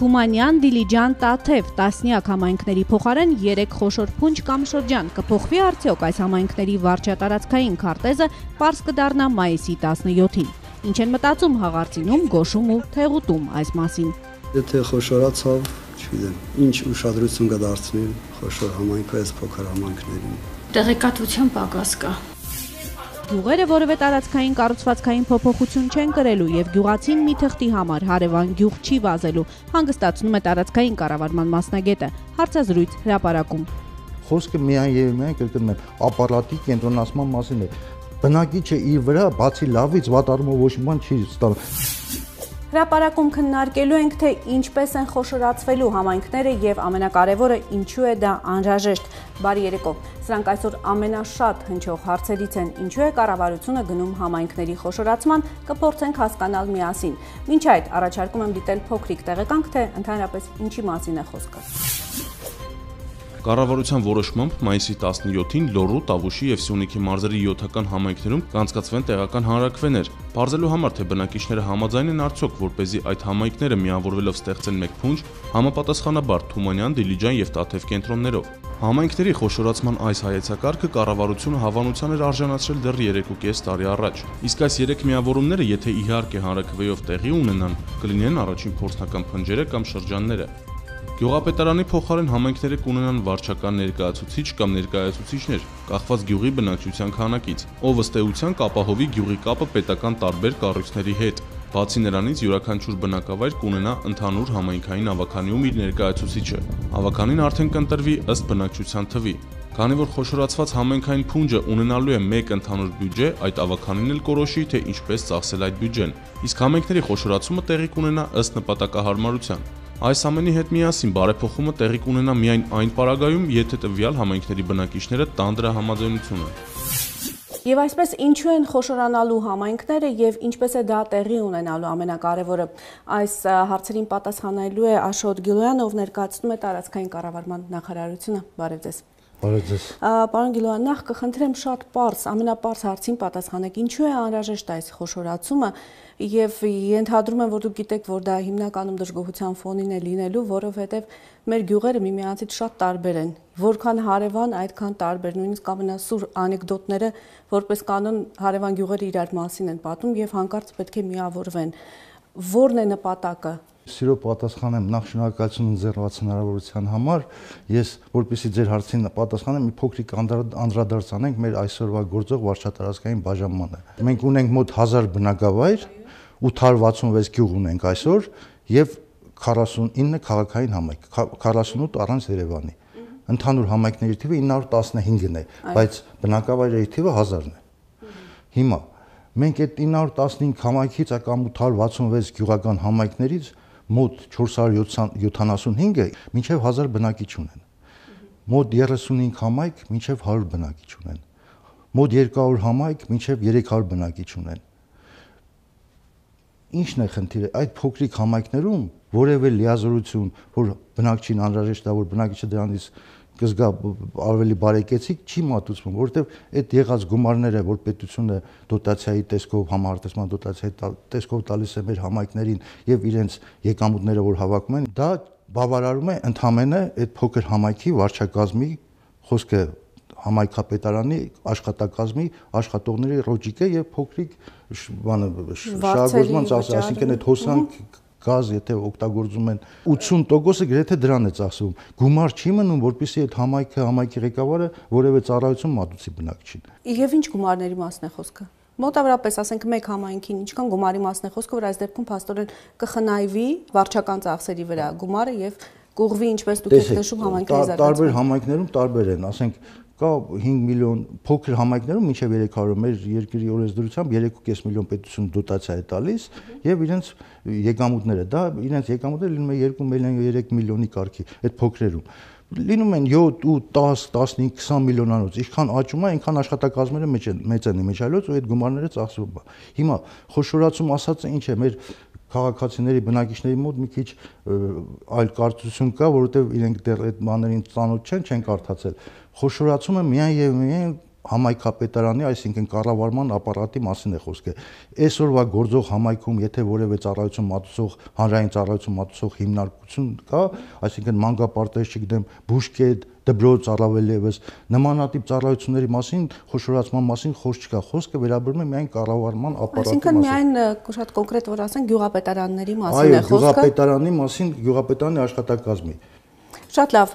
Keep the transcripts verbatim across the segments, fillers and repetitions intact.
Թումանյան, Դիլիջան, Տաթև, տասնյակ համայնքների փոխարեն երեք խոշոր փունջ կամ շրջան կփոխվի արդյոք այս համայնքների վարչատարածքային քարտեզը պարզ կդառնա մայիսի տասնյոթին։ Ինչ են մտածում հաղարծինում, գոշում ու թեղուտում այս մասին։ Եթե խոշորացավ, չգիտեմ, ինչ ուշադրություն կդարձնի խոշոր համայնքը այս փոքր համայնքներին։ Տեղեկատվության պակաս կա։ Գյուղերը որևէ տարածքային կառուցվածքային փոփոխություն չեն կրելու եւ գյուղացին մի թղթի համար հարևան գյուղ չի վազելու, հանգստացնում է տարածքային կառավարման մասնագետը, հարցազրույց հրապարակում։ Խոսքը միայն եւ միայն կրկնում եմ, ապարատի կենտրոնացման մասին է։ Բնակիչը իր վրա բացի լավից վատ առումով ոչ մի բան չի ստանում։ Հրապարակում քննարկելու ենք, թե ինչպես են խոշորացվելու համայնքները եւ ամենակարևորը ինչու է դա անհրաժեշտ։ Բարի երեկո։ Սրանք այսօր ամենաշատ հնչող հարցերից են, ինչու է կառավարությունը գնում համայնքների խոշորացման, կփորձենք հասկանալ միասին։ Մինչ այդ առաջարկում եմ դիտել փոքրիկ տեղեկանք, թե ընդհանրապես ինչի մասին է խոսքը։ Կառավարության որոշմամբ մայիսի տասնյոթին Լոռու, Տավուշի եւ Սյունիքի մարզերի յոթական համայնքներում կանցկացվեն տեղական հանրաքվեներ։ Պարզելու համար, թե բնակիչները համաձայն են արդյոք, որպեսզի այդ համայնքները միավորվելով ստեղծեն մեկ փունջ, համապատասխանաբար Թումանյան, Դիլիջան եւ Տաթև կենտրոններով։ Համայնքների խոշորացման այս հայեցակարգը կառավարությունը հավանության էր արժանացրել դեռ երեք ու կես տարի առաջ։ Իսկ այս երեք միավորումները, եթե իհարկե հանրաքվեով տեղի ունենան, կլինեն առաջին փորձնական փնջերը կամ շրջանները։ Գյուղապետարանի փոխարեն համայնքները կունենան վարչական ներկայացուցիչ կամ ներկայացուցիչներ, կախված գյուղի բնակչության քանակից, ով ըստ էության կապահովի գյուղի կապը պետական տարբեր կառույցների հետ։ Բացի նրանից յուրաքանչյուր բնակավայր կունենա ընդհանուր համայնքային ավականիում իր ներկայացուցիչը։ Ավականին արդեն կընտրվի ըստ բնակչության թվի։ Քանի որ խոշորացված համայնքային փունջը ունենալու է մեկ ընդհանուր բյուջե, այդ ավականին էլ կորոշի, թե ինչպես ծախսել այդ բյուջեն։ Իսկ համայնքների խոշորացումը տեղի կունենա ըստ նպատակահարմարության։ Այս ամենի հետ միասին բարեփոխումը տեղի կունենա միայն այն պարագայում, եթե տվյալ համայնքների բնակիչները տան դրա համաձայնությունը։ Եվ այսպես ինչու են խոշորանալու համայնքները եւ ինչպես է դա տեղի ունենալու ամենակարևորը։ Այս հարցերին պատասխանելու է Աշոտ Գիլոյանը, ով ներկայացնում է տարածքային կառավարման նախարարությունը։ Բարև ձեզ։ Բարև ձեզ։ Պարոն Գիլոյան, նախ կխնդրեմ շատ պարզ, ամենապարզ հարցին պատասխանեք, ինչու է անհրաժեշտ այս խոշորացումը եւ ենթադրում եմ, որ դուք գիտեք, որ դա հիմնականում դժգոհության ֆոնին է լինելու, որովհետեւ մեր գյուղերը միմյանցից շատ տարբեր են, որքան հարևան, այդքան տարբեր, նույնիսկ ամենասուր անեկդոտները որպես կանոն հարևան գյուղերը իրար մասին են պատում եւ հանկարծ պետք է միավորվեն։ Որն է նպատակը։ Սիրո պատասխանեմ, նախ շնորհակալություն ընձեռված հնարավորության համար։ Ես, որպեսզի ձեր հարցին պատասխանեմ, մի փոքրիկ անդրադարձ անենք մեր այսօրվա գործող վարչատարածքային բաժանմանը։ Մենք ունենք մոտ հազար բնակավայր, ութ հարյուր վաթսունվեց գյուղ ունենք այսօր եւ քառասունինը քաղաքային համայնք, քառասունութ առանց Երևանի։ Ընդհանուր համայնքների թիվը ինը հարյուր տասնհինգն է, բայց բնակավայրերի թիվը հազարն է։ Հիմա մենք այդ ինը հարյուր տասնհինգ համայնքից կամ ութ հարյուր վաթսունվեց գյուղական համայնքներից մոտ չորս հարյուր յոթանասունհինգը մինչև հազար բնակիչ ունեն, մոտ երեսունհինգ համայնք մինչև հարյուր բնակիչ ունեն, մոտ երկու հարյուր համայնք մինչև երեք հարյուր բնակիչ ունեն։ Ինչն է խնդիրը, այդ փոքրիկ համայնքներում որևէ լիազորություն, որ բնակչին անհրաժեշտ է, որ բնակիչը դրանից կզգա ավելի բարեկեցիկ, չի մատուցվում, որովհետև այդ եղած գումարները, որ պետությունը դոտացիայի տեսքով, համարտեսման դոտացիայի տեսքով տալիս է մեր համայնքներին եւ իրենց եկամուտները, որ հավաքում են, դա բավարարում է ընդհանրապես այդ փոքր համայնքի վարչակազմի խոսքը համայնքապետարանի աշխատակազմի աշխատողների ռոճիկը եւ փոքրիկ բանը շահագործման ծախսը, այսինքն այդ հոսանք գազ, եթե օգտագործում են ութսուն տոկոսը գրեթե դրան է ծախսվում։ Գումար չի մնում, որպեսզի այդ համայնքը, համայնքի ղեկավարը որևէ ծառայություն մատուցի բնակչին։ Եվ ինչ գումարների մասն է խոսքը։ Մոտավորապես, ասենք, մեկ համայնքին ինչքան գումարի մասն է խոսքը, որ այս դեպքում փաստորեն կխնայվի վարչական ծախսերի վրա գումարը եւ կուղվի, ինչպես դուք եք նշում, համայնքների զարգացումը։ Տարբեր համայնքներում տարբեր են, ասենք կա հինգ միլիոն փոքր համայնքներում մինչև երեք հարյուր մեր երկրի օրենսդրությամբ երեք ու կես միլիոն պետություն դոտացիա է տալիս եւ իրենց եկամուտները, դա իրենց եկամուտները լինում է երկու միլիոն երեք միլիոնի կարգի այդ փոքրերում լինում են յոթ ու տաս, տասնհինգ, քսան միլիոնանոց, ինչքան աճում է, այնքան աշխատակազմերը մեծ են, մեծ են իմիջալոց ու այդ գումարները ծախսվում է։ Հիմա խոշորացում ասածը ինչ է, մեր քաղաքացիների բնակիչների մոտ մի քիչ այլ կարծություն կա, որովհետև իրենք դեռ այդ բաներին ծանոթ չեն, չեն կարդացել։ Խոշորացումը միայն եւ միայն համայնքապետարանի, այսինքն կառավարման ապարատի մասին է խոսքը։ Այսօրվա գործող համայնքում, եթե որևէ ծառայություն մատուցող, հանրային ծառայություն մատուցող հիմնարկություն կա, այսինքն մանկապարտեզ, չգիտեմ, բուժկետ, դպրոց, առավելևս նմանատիպ ծառայությունների մասին, խոշորացման մասին խոսք չկա, խոսքը վերաբերում է միայն կառավարման ապարատի մասին։ Այսինքն միայն շատ կոնկրետ որ ասենք գյուղապետարանների մասին է խոսքը։ Այո, գյուղապետարանի մասին, գյուղապետարանի աշխատակազմի։ Շատ լավ,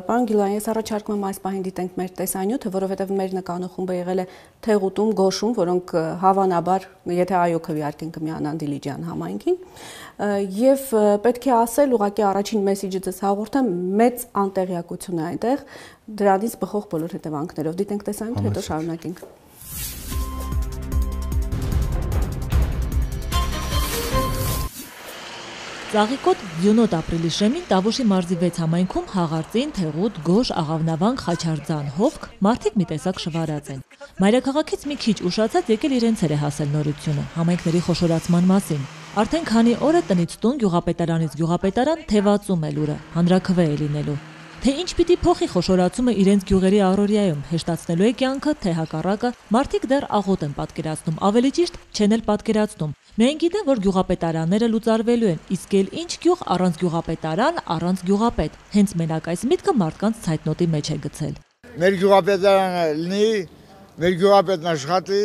պարոն Գիլյան, ես առաջարկում եմ այս պահին դիտենք մեր տեսանյութը, որովհետև մեր նկարախումբը եղել է Թեղուտում, Գոշում, որոնք հավանաբար, եթե այո քվեարկեն կմիանան Դիլիջան համայնքին, եւ պետք է ասել, ուղղակի առաջին մեսիջը ձեզ հաղորդեմ, մեծ անտեղյակություն է այնտեղ, դրանից բխող բոլոր հետևանքներով։ Դիտենք տեսանյութը, հետո շարունակենք։ Ծաղիկոտ Ձյունոտ ապրիլի շեմին Տավուշի մարզի վեց համայնքում Հաղարծին, Թեղուտ, Գոշ, Աղավնավանք, Խաչարձան, Հովք մարդիկ մի տեսակ շվարած են։ Մայրաքաղաքից մի քիչ ուշացած եկել իրենց էր է հասել նորությունը համայնքների խոշորացման մասին։ Արդեն քանի օր է տնից տուն, գյուղապետարանից գյուղապետարան թևածում է լուրը, հանրաքվե է լինելու։ Թե ինչ պիտի փոխի խոշորացումը իրենց գյուղերի առօրյայում, հեշտացնելու է կյանքը, թե հակառակը, մարդիկ դեռ աղոտ են պատկերացնում, ավելի ճիշտ չեն էլ պատկերացնում։ Միայն գիտեն, որ գյուղապետարանները լուծարվելու են, իսկ էլ ինչ գյուղ առանց գյուղապետարան, առանց գյուղապետ։ Հենց մենակ այս միտքը մարդկանց ցայտնոտի մեջ է գցել։ Մեր գյուղապետարանը լինի, մեր գյուղապետն աշխատի,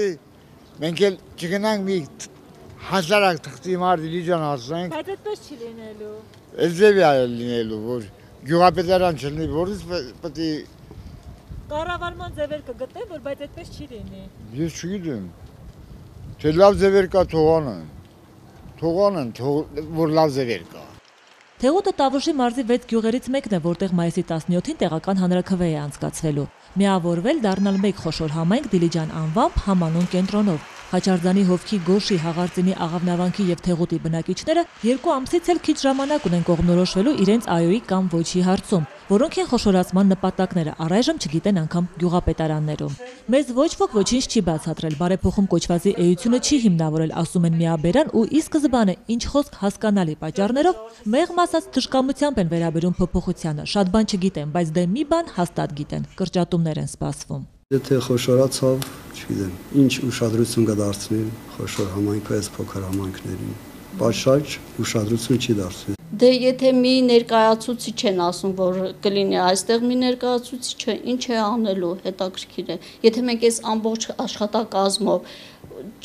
մենք էլ չգնանք մի հասարակ թղթի մարդ Դիլիջան հասնենք։ Բայց այդպես չի լինելու։ Էլզևի է լինելու, որ գյուղապետարան չլինի, որից պետք է կառավարման ձևեր կգտնեն, որ բայց այդպես չի լինի։ Ես չգիտեմ։ Թե լավ ձևեր կա թողանն, թողանն, որ լավ ձևեր կա։ Թեղուտը Տավուշի մարզի վեց գյուղերից մեկն է, որտեղ մայիսի տասնյոթին տեղական հանրաքվե է անցկացվելու։ Միավորվել դառնալ մեկ խոշոր համայնք Դիլիջան անվամբ համանուն կենտրոնով։ Խաչարձանի, Հովքի, Գոշի, Հաղարծինի, Աղավնավանքի եւ Թեղուտի բնակիչները երկու ամսից էլ քիչ ժամանակ ունեն կողմնորոշվելու իրենց այոյի կամ ոչի հարցում, որոնք են խոշորացման նպատակները, առայժմ չգիտեն անգամ գյուղապետարաններում։ Մեզ ոչ ոք ոչինչ չի բացատրել, բարեփոխում կոչվածի էությունը չի հիմնավորել, ասում են միաբերան ու ի սկզբանե ինչ խոսք հասկանալի պատճառներով մեղմ ասած թշկամությամբ են վերաբերում փոփոխությանը, շատ բան չգիտեն, բայց դե մի բան հաստատ գիտեն, կրճատումներ են սպասվում։ Եթե խոշորացավ, չգիտեմ, ինչ ուշադրություն կդարձնի խոշոր համայնքը այս փոքր համայնքներին։ Պաշարջ ուշադրություն չի դարձվի։ Դե եթե մի ներկայացուցիչ են ասում, որ կլինի այստեղ մի ներկայացուցիչը, ինչ է անելու, հետաքրքիր է։ Եթե մենք այս ամբողջ աշխատակազմով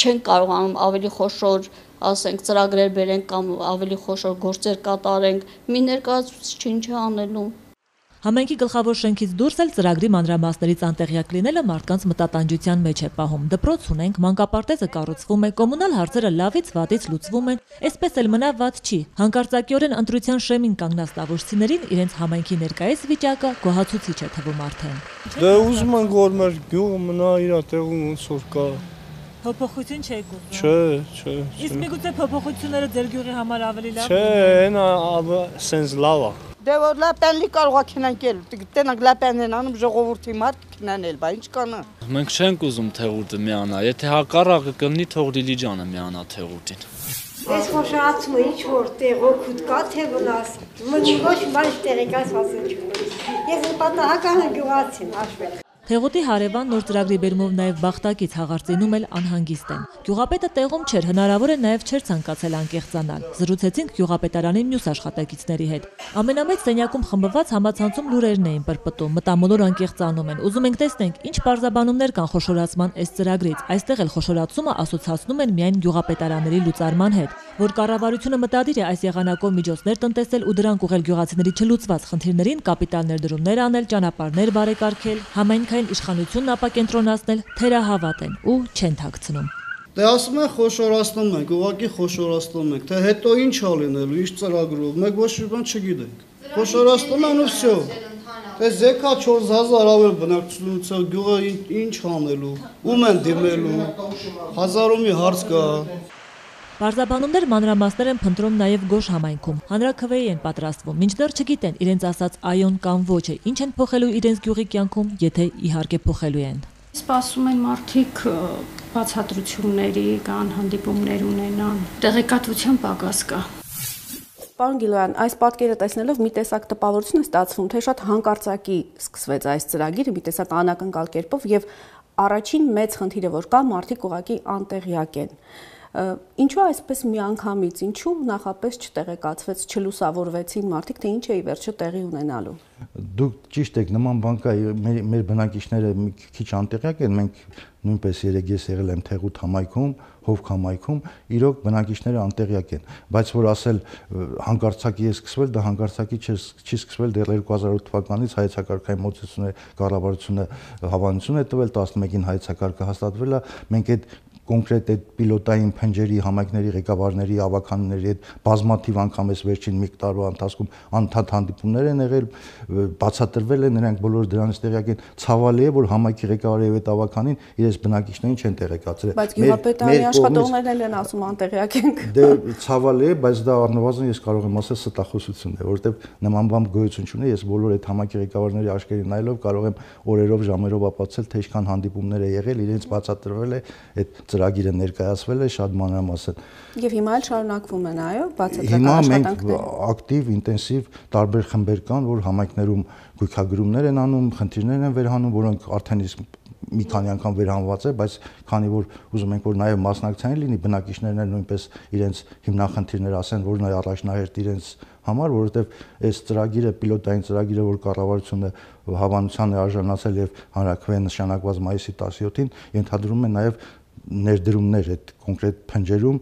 չենք կարողանում ավելի խոշոր, ասենք, ծրագրեր բերենք կամ ավելի խոշոր գործեր կատարենք, մի ներկայացուցիչ ինչ է անելու։ Համայնքի գլխավոր շենքից դուրս էլ ծրագրի մանրամասներից անտեղյակ լինելը մարդկանց մտատանջության մեջ է պահում։ Դպրոց ունենք, մանկապարտեզը կառուցվում է, կոմունալ հարցերը լավից վատից լուծվում են, այսպես էլ մնա վատ չի։ Հանկարծակիորեն ընտրության շեմին կանգնած տավուշցիներին իրենց համայնքի ներկայիս վիճակը գոհացուցիչ է թվում արդեն։ Դե ուզում ենք որ մեր գյուղը մնա իր տեղում ոնց որ կա։ Փոփոխություն չէ գուզում։ Չէ, չէ։ Իսկ միգուցե փոփոխությունները ձեր գյուղի համար ավելի լավ։ Չէ, այնա սենց լավ է։ Դե որ լապենլի կարող է քնանքել, տենակ լապենն անում ժողովրդի մարդ քնանել, բա ինչ կանա։ Մենք չենք ուզում Թեղուտը միանա, եթե հակառակը կլինի թող Դիլիջանը միանա Թեղուտին։ Այս խոշորացումը ինչ որ տեղոքուտ կա, թե վնաս, ոչ բան տեղեկաց ասել չունի։ Ես պատահական գյուղացին, հաշվեք։ Թեղուտի հարևան նոր ծրագրի բերումով նաև Բախտակից Հաղարծինում էլ անհանգիստ են։ Գյուղապետը տեղում չէր, հնարավոր է նաև չէր ցանկացել անկեղծանալ։ Զրուցեցինք գյուղապետարանի մյուս աշխատակիցների հետ։ Ամենամեծ սենյակում խմբված համացանցում լուրերն էին պրպտում, մտամոլոր անկեղծանում են։ Ուզում ենք տեսնենք, ինչ բարձաբանումներ կան խոշորացման այս ծրագրից։ Այստեղ էլ խոշորացումը ասոցացնում են միայն գյուղապետարանների լուծարման հետ, որ կառավարությունը մտադիր է այս եղանակով միջոցներ տնտեսել ու դրանք ուղղել գյուղացիների չլուծված խնդիրներին, կապիտալ ներդրումներ անել, ճանապարհներ բարեկարգել, համայնքային իշխանությունն ապակենտրոնացնել, թերահավատ են ու չեն թաքցնում։ Դե ասում են խոշորացնում ենք, ուղղակի խոշորացնում ենք, թե հետո ինչ ա լինելու, ինչ ծրագրով, մենք ոչ մի բան չգիտենք։ Խոշորացնում են ու վсё։ Դե զեկա չորս հազար ավել բնակչությունից գյուղը ինչ անելու, ում են դիմելու, հազարումի հարց կա։ Պարզաբանումներ մանրամասներ են փնտրում նաև Գոշ համայնքում։ Հանրաքվեի են պատրաստվում, մինչդեռ չգիտեն իրենց ասած այոն կամ ոչը, ինչ են փոխելու իրենց գյուղի կյանքում, եթե իհարկե փոխելու են։ Սպասում են մարդիկ բացատրությունների կան, հանդիպումներ ունենան, տեղեկատվության պակաս կա։ Պարոն Գիլյան, այս պատկերը տեսնելով մի տեսակ տպավորություն է ստացվում, թե շատ հանկարծակի սկսվեց այս ծրագիրը, մի տեսակ անակնկալ կերպով եւ առաջին մեծ խնդիրը որ կա, մարդիկ ուղղակի անտեղյակ են։ Ինչու այսպես միանգամից, ինչու նախապես չտեղեկացվեց, չլուսավորվեցին մարդիկ, թե ինչ է ի վերջո տեղի ունենալու։ Դուք ճիշտ եք, նման բան կա, մեր բնակիչները մի քիչ անտեղյակ են, մենք նույնպես երեք ես եղել եմ Թեղուտ համայնքում, Հովք համայնքում, իրոք բնակիչները անտեղյակ են, բայց որ ասել հանկարծակի է սկսվել, դա հանկարծակի չի սկսվել, դեռ երկու հազար ութ թվականից հայեցակարգային մոտեցումների կառավարությունը հավանություն է տվել, տասնմեկին հայեցակարգը հաստատվել է, մենք այդ կոնկրետ այդ պիլոտային փնջերի համայնքների ղեկավարների ավականների հետ բազմաթիվ անգամ էս վերջին մի տարվա ընթացքում անդադ հանդիպումներ են եղել, բացատրվել է, նրանք բոլորը դրանից տեղյակ են, ցավալի է, որ համայնքի ղեկավարի հետ ավականին իրենց բնակիչներին չեն տեղեկացրել։ Բայց գյուղապետարանի աշխատողներն էլ են ասում անտեղյակ ենք։ Դե ցավալի է, բայց դա առնվազն ես կարող եմ ասել ստախոսություն է, որովհետև նման բան գոյություն չունի, ես բոլոր այդ համայնքի ղեկավարների աչքերին նայելով կարող եմ օրերով, ժամերով ապացուցել, թե ինչքան հանդիպումներ է եղել, իրենց բացատրվել է այդ ծրագիրը ներկայացվել է շատ մանրամասն։ Եվ հիմա էլ շարունակվում են, այո, Հիմա բացատրական մենք ակտիվ, ինտենսիվ տարբեր խմբեր կան, որ համայնքներում գույքագրումներ են անում, խնդիրներ են վերհանում, որոնք արդեն իսկ մի քանի անգամ վերհանված է, բայց քանի որ ուզում ենք որ նաև մասնակցային լինի, բնակիչներն էլ նույնպես իրենց հիմնախնդիրներ ասեն, որ նա առաջնահերթ իրենց համար, որովհետև այս ծրագիրը, պիլոտային ծրագիրը, որ կառավարությունը հավանության է արժանացել եւ հանրաքվեն նշանակված մայիսի տասնյոթին, ենթադրում է նաև ներդրումներ այդ կոնկրետ փնջերում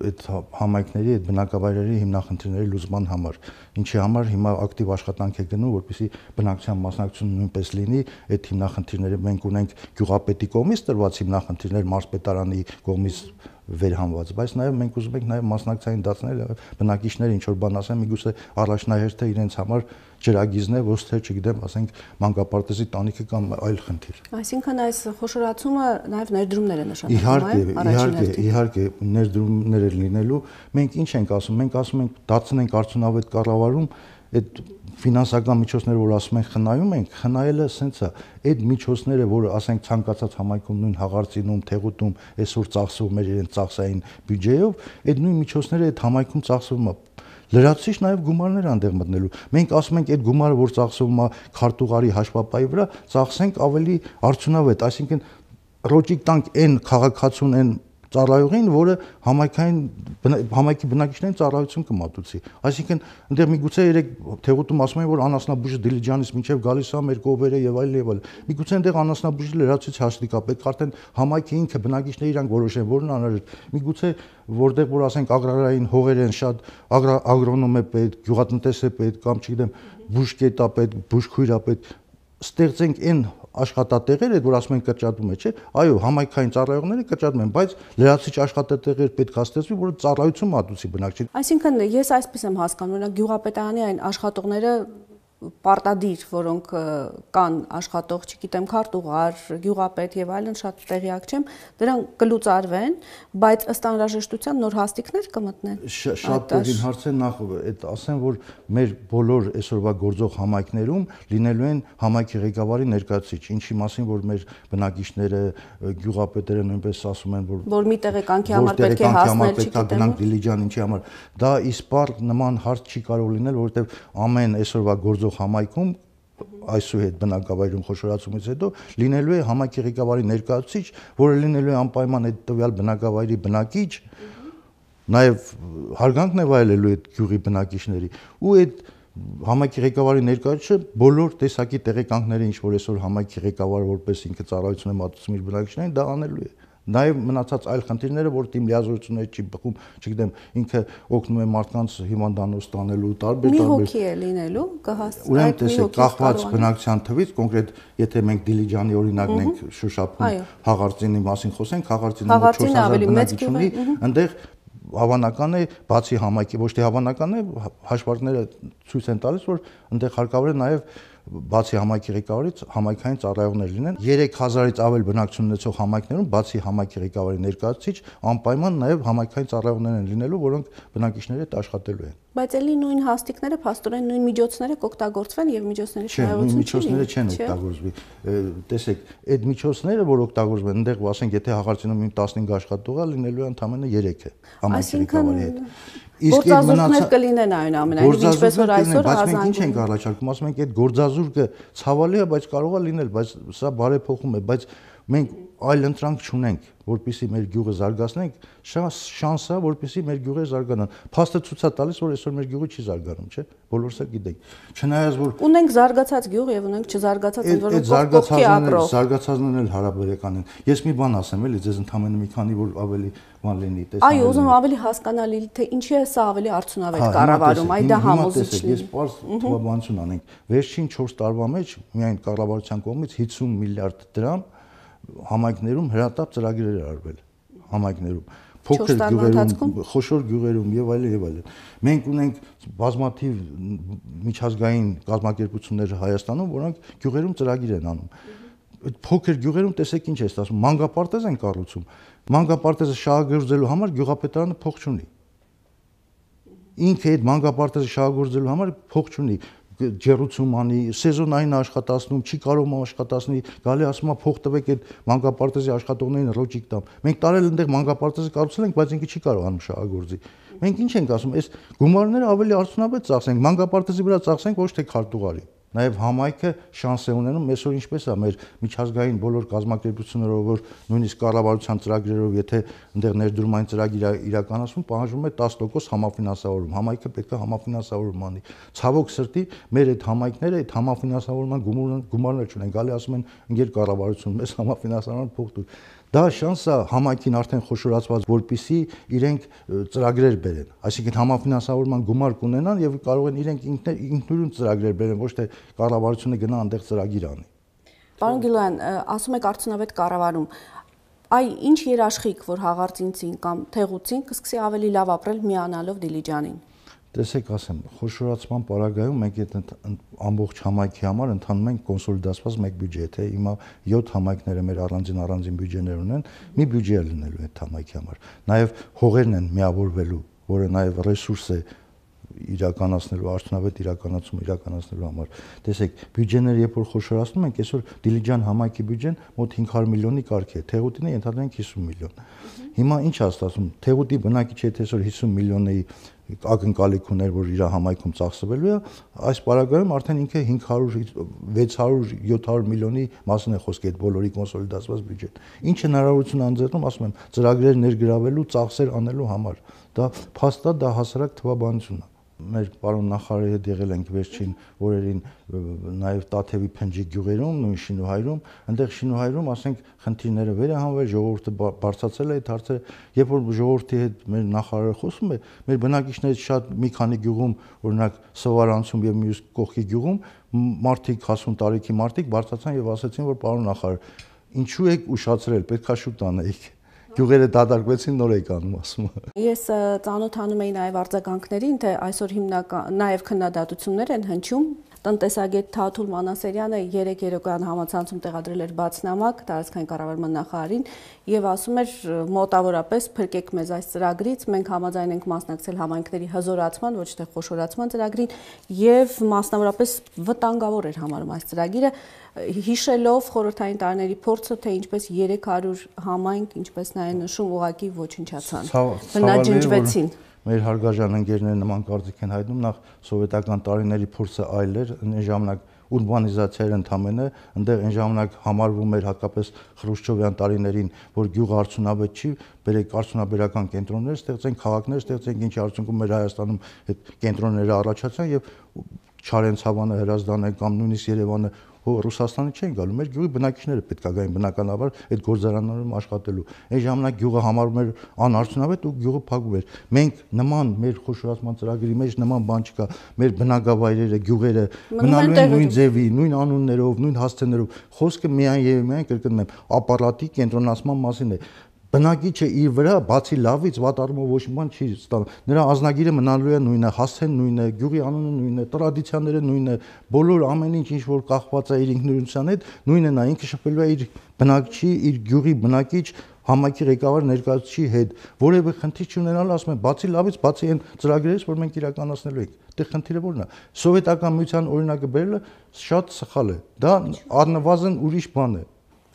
այդ համայնքների, այդ բնակավայրերի հիմնախնդիրների լուծման համար, ինչի համար հիմա ակտիվ աշխատանք է գնում, որպեսզի բնակչության մասնակցությունը նույնպես լինի, այդ հիմնախնդիրները մենք ունենք գյուղապետի կողմից տրված հիմնախնդիրներ, մարզպետարանի կողմից վերհանված, բայց նաև մենք ուզում ենք նաև մասնակցային դարձնել բնակիչները ինչ որ բան ասեն, միգուցե առաջնահերթը իրենց համար ջրագիզն է, ոչ թե, չգիտեմ, ասենք մանկապարտեզի տանիքը կամ այլ խնդիր։ Այսինքն այս խոշորացումը նաև ներդրումներ է նշանակում, Իհարկե, իհարկե, իհարկե ներդրումներ է լինելու, մենք ինչ ենք ասում, մենք ասում ենք դարձնենք արդյունավետ կառավարում, այդ ֆինանսական միջոցները, որ ասում ենք խնայում ենք, խնայելը սենց է, այդ միջոցները, որ ասենք ցանկացած համայնքում նույն Հաղարծինում, Թեղուտում այսօր ծախսվում էր իրենց ծախսային բյուջեով, այդ նույն միջոցները այդ համայնքում ծախսվում է։ Լրացուցիչ նաև գումարներ անդեղ մտնելու։ Մենք ասում ենք այդ գումարը, որ ծախսվում է քարտուղարի հաշվապայի վրա, ծախսենք ավելի արդյունավետ, այսինքն ռոճիկ տանք այն քաղաքացուն, այն ծառայողին, որը համայնքային համայնքի բնակիչներին ծառայություն կմատուցի։ Այսինքն այնտեղ միգուցե երեք Թեղուտում ասում են, որ անասնաբուժը Դիլիջանից մինչև գալիս է մեր կողերը եւ այլ եւ այլ։ Միգուցե այնտեղ անասնաբուժի լրացուցիչ հաշվի կա, պետք արդեն համայնքի ինքը բնակիչները իրանք որոշեն, որն անհրաժեշտ։ Միգուցե որտեղ որ ասենք ագրարային հողեր են շատ, ագրոնոմ է պետք, գյուղատնտես է պետք կամ չգիտեմ, բուժկետ է պետք, բուժքույր է պետք, ստեղծենք այն աշխատատեղեր այդ որ ասում են կրճատում է, չէ՞։ Այո, համայնքային ծառայողները կրճատում են, բայց լրացուցիչ աշխատատեղեր պետք է ստեղծվի, որը ծառայություն մատուցի բնակչին։ Այսինքն ես այսպես եմ հասկանում, օրինակ գյուղապետարանի այն աշխատողները պարտադիր, որոնք կան աշխատող, չգիտեմ, քարտուղար, գյուղապետ եւ այլն, շատ տեղյակ չեմ, դրանք կլուծարվեն, բայց ըստ անհրաժեշտության նոր հաստիկներ կմտնեն։ Շատ դեպին հարց է, նախ այդ ասեմ, որ մեր բոլոր այսօրվա գործող համայնքներում լինելու են համայնքի ղեկավարի ներկայացուցիչ, ինչի մասին որ մեր բնակիչները, գյուղապետերը նույնպես ասում են, որ որ մի տեղեկանքի համար պետք է հասնել, չգիտեմ, գնանք Դիլիջան, ինչի համար։ Դա իսպառ նման հարց չի կարող լինել, որովհետեւ ամեն այսօրվա գործող համայնքում այսուհետ բնակավայրում խոշորացումից հետո լինելու է համայնքի ղեկավարի ներկայացուցիչ, որը լինելու է անպայման այդ տվյալ բնակավայրի բնակիչ, նաև հարգանքն է վայելելու այդ գյուղի բնակիչների ու այդ համայնքի ղեկավարի ներկայացուցիչը բոլոր տեսակի տեղեկանքները, ինչ որ այսօր համայնքի ղեկավարը որպես ինքը ծառայություն է մատուցում իր բնակիչներին, դա անելու է։ Նաև մնացած այլ խնդիրները, որ թիմ լիազորություններ չի բխում, չգիտեմ, ինքը օգնում է մարդկանց հիվանդանոց ստանելու տարբեր տարբեր։ Մի հոգի է լինելու, կհասցնի։ Ուրեմն տեսեք, կախված բնակչության թվից, կոնկրետ եթե մենք Դիլիջանի օրինակն ենք շոշափում, Հաղարծինի մասին խոսենք, Հաղարծինը չորս հազար բնակիչ ունի, այնտեղ հավանական է, բացի համայնքի, ոչ թե հավանական է, հաշվարկները ցույց են տալիս, որ այնտեղ հարկավոր է նաև բացի համայնքի ղեկավարից համայնքային ծառայողներ լինեն երեք հազարից ավել բնակչություն ունեցող համայնքներում բացի համայնքի ղեկավարի ներկայացուցիչ անպայման նաև համայնքային ծառայողներ են լինելու, որոնք բնակիչների հետ աշխատելու են։ Բայց էլի նույն հաստիկները, փաստորեն նույն միջոցները կօգտագործվեն եւ միջոցների շահություն չի։ Չէ, նույն միջոցները չեն օգտագործվի։ Տեսեք, այդ միջոցները, որ օգտագործվում են, այնտեղ ասենք, եթե Հաղարծինում տասնհինգ աշխատող է, լինելու է ընդամենը երեքը համայնքի ղեկավարի հետ։ Իսկ այդ մնացած կլինեն այնուամենայնիվ, ինչպես որ այսօր բայց մենք ինչ ենք առաջարկում, ասում ենք այդ գործազուրկը ցավալի է, բայց կարող է լինել, բայց սա բարեփոխում է, բայց Մենք այլ ընտրանք չունենք, որպեսզի մեր գյուղը զարգացնենք, շանս է, որպեսզի մեր գյուղը զարգանան։ Փաստը ցույց է տալիս, որ այսօր մեր գյուղը չի զարգանում, չէ՞։ Բոլորս էլ գիտենք։ Չնայած որ ունենք զարգացած գյուղ եւ ունենք չզարգացած, ընդ որում կողքի ապրող։ Զարգացածներն էլ հարաբերական են։ Ես մի բան ասեմ, էլի, ձեզ ընդամենը մի քանի որ ավելի բան լինի, տեսնեմ։ Այո, ուզում ավելի հասկանալի, թե ինչի է սա ավելի արդյունավետ կառավարում, այ դա համոզիչ լինի։ Ես պարզ թվաբանություն անենք։ Վերջին չորս տարվա մեջ միայն կառավարության կողմից հիսուն միլիարդ դրամ համայնքներում հրատապ ծրագրեր էր արվել համայնքներում փոքր գյուղերում խոշոր գյուղերում եւ այլն եւ այլն մենք ունենք բազմաթիվ միջազգային կազմակերպություններ Հայաստանում որոնք գյուղերում ծրագիր են անում այդ փոքր գյուղերում տեսեք ինչ է ստացվում մանկապարտեզ են կառուցում մանկապարտեզը շահագործելու համար գյուղապետարանը փող չունի ինքը այդ մանկապարտեզը շահագործելու համար փող չունի ջերուցում անի, սեզոնային աշխատացնում, չի կարող աշխատացնի, գալի ասում է փող տվեք այդ մանկապարտեզի աշխատողներին ռոճիկ տամ։ Մենք տարել այնտեղ մանկապարտեզը կառուցել ենք, բայց ինքը չի կարողանում շահագործի։ Մենք ինչ ենք ասում, այս գումարները ավելի արդյունավետ ծախսենք, մանկապարտեզի վրա ծախսենք ոչ թե քարտուղարի։ Նաև համայնքը շանս է ունենում, այսօր ինչպես է մեր միջազգային բոլոր կազմակերպություններով, որ նույնիսկ կառավարության ծրագրերով, եթե այնտեղ ներդրումային ծրագիր իրականացվում, պահանջվում է տասը տոկոս համաֆինանսավորում։ Համայնքը պետք է համաֆինանսավորում անի։ Ցավոք սրտի, մեր այդ համայնքները այդ համաֆինանսավորման գումարներ չունեն, գալի ասում են ընկեր կառավարություն, մեզ համաֆինանսավորման փող տուր։ Դա շանս է համայնքին արդեն խոշորացված, որպեսզի իրենք ծրագրեր բերեն, այսինքն համաֆինանսավորման գումար կունենան եւ կարող են իրենք ինքնուրույն ծրագրեր բերեն, ոչ թե կառավարությունը գնա այնտեղ ծրագիր անի։ Պարոն Գիլոյան, ասում եք արդյունավետ կառավարում, այ ինչ երաշխիք, որ հաղարծինցին կամ թեղուցին կսկսի ավելի լավ ապրել միանալով Դիլիջանին։ Տեսեք, ասեմ, խոշորացման պարագայում մենք այդ ամբողջ համայնքի համար ընդհանում ենք կոնսոլիդացված մեկ բյուջե, թե հիմա յոթ համայնքները մեր առանձին առանձին բյուջեներ ունեն, մի բյուջե է լինելու այդ համայնքի համար։ Նաև հողերն են միավորվելու, որը նաև ռեսուրս է իրականացնելու, արդյունավետ իրականացում իրականացնելու համար։ Տեսեք, բյուջեները երբ որ խոշորացնում ենք, այսօր Դիլիջան համայնքի բյուջեն մոտ հինգ հարյուր միլիոնի կարգ է, Թեղուտինը ենթադրենք հիսուն միլիոն։ Հիմա ինչ է ստացվում, Թեղուտի բնակիչը եթե այսօր հիսուն միլիոնի ակնկալիք ուներ, որ իր համայնքում ծախսվելու է, այս պարագայում արդեն ինքը հինգ հարյուր վեց հարյուր յոթ հարյուր միլիոնի մասին է խոսքը այդ բոլորի կոնսոլիդացված բյուջեն։ Ինչ հնարավորություն անձեռնում, ասում եմ, ծրագրեր ներգրավելու, ծախսեր անելու համար։ Դա փաստա, դա հասարակ թվաբանություն է։ Մեր պարոն նախարարի հետ եղել ենք վերջին օրերին նաև Տաթևի Փնջի գյուղերում, նույն Շինուհայրում, այնտեղ Շինուհայրում, ասենք, խնդիրները վերահանվել, ժողովուրդը բարձրացել է այդ հարցերը, երբ որ ժողովրդի հետ մեր նախարարը խոսում է, մեր բնակիչներից շատ մի քանի գյուղում, օրինակ Սովարանցում եւ մյուս կողքի գյուղում, մարդիկ հասուն տարիքի մարդիկ բարձրացան եւ ասացին, որ պարոն նախարար, ինչու եք ուշացրել, պետքա շուտ անեիք։ Գյուղերը դատարկվեցին, նոր եք անում, ասում եմ։ Ես ծանոթանում էի նաև արձագանքներին, թե այսօր հիմնական նաև քննադատություններ են հնչում։ Տնտեսագետ Թաթուլ Մանասերյանը երեք երեկոյան համացանցում տեղադրել էր բացնամակ տարածքային կառավարման նախարարին եւ ասում էր մոտավորապես փրկեք մեզ այս ծրագրից, մենք համաձայն ենք մասնակցել համայնքների հզորացման, ոչ թե խոշորացման ծրագրին եւ մասնավորապես վտանգավոր էր համարում այս ծրագիրը, հիշելով խորհրդային տարիների փորձը, թե ինչպես երեք հարյուր համայնք, ինչպես նա է նշում, ուղղակի ոչնչացան, բնաջնջվեցին։ Մեր հարգարժան ընկերները նման կարծիք են հայտնում, նախ սովետական տարիների փորձը այլ էր, այն ժամանակ ուրբանիզացիա էր ընդամենը, այնտեղ այն ժամանակ համարվում էր հատկապես Խրուշչովյան տարիներին, որ գյուղը արդյունավետ չի, բերեք արդյունաբերական կենտրոններ ստեղծենք, քաղաքներ ստեղծենք, ինչի արդյունքում մեր Հայաստանում այդ կենտրոնները առաջացան եւ Չարենցավանը, Հրազդանը կամ նույնիսկ Երևանը Ռուսաստանի չեն գալու, մեր գյուղի բնակիչները պետք է գային բնականաբար այդ գործարաններում աշխատելու։ Այն ժամանակ գյուղը համարվում էր անարդյունավետ ու գյուղը փակվում էր։ Մենք նման մեր խոշորացման ծրագրի մեջ նման բան չկա։ Մեր բնակավայրերը, գյուղերը մնալու են նույն ձևի, նույն անուններով, նույն հասցեներով։ Խոսքը միայն եւ միայն կրկնում եմ, ապարատի կենտրոնացման մասին է։ Բնակիչը իր վրա բացի լավից վատ առումով ոչ մի բան չի ստանում։ Նրա ազնագիրը մնալու է նույնը, հասցեն նույնը, գյուղի անունը նույնը, տրադիցիաները նույնը, բոլոր ամեն ինչ ինչ որ կախված է իր ինքնուրույնության հետ, նույնն է, ինքը շփվելու է իր բնակչի, իր գյուղի բնակիչ համայնքի ղեկավար ներկայացուցիչի հետ, որևէ խնդիր չունենալ, ասում եմ, բացի լավից, բացի այն ծրագրերից, որ մենք իրականացնելու ենք։ Դե խնդիրը ո՞րն է։ Սովետական միության օրինակը բերելը շատ սխալ է։ Դա առնվազն ուրիշ բան է։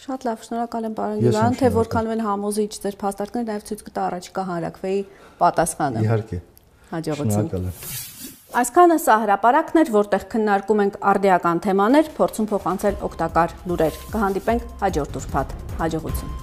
Շատ լավ, շնորհակալ եմ պարոն Գիլոյան, թե որքանով են համոզիչ ձեր փաստարկները, նաև ցույց կտա առաջիկա հանրաքվեի պատասխանը։ Իհարկե։ Հաջողություն։ Շնորհակալ եմ։ Այսքանը սա հրապարակն էր, որտեղ քննարկում ենք արդիական թեմաներ, փորձում փոխանցել օգտակար լուրեր։ Կհանդիպենք հաջորդ ուրբաթ։ Հաջողություն։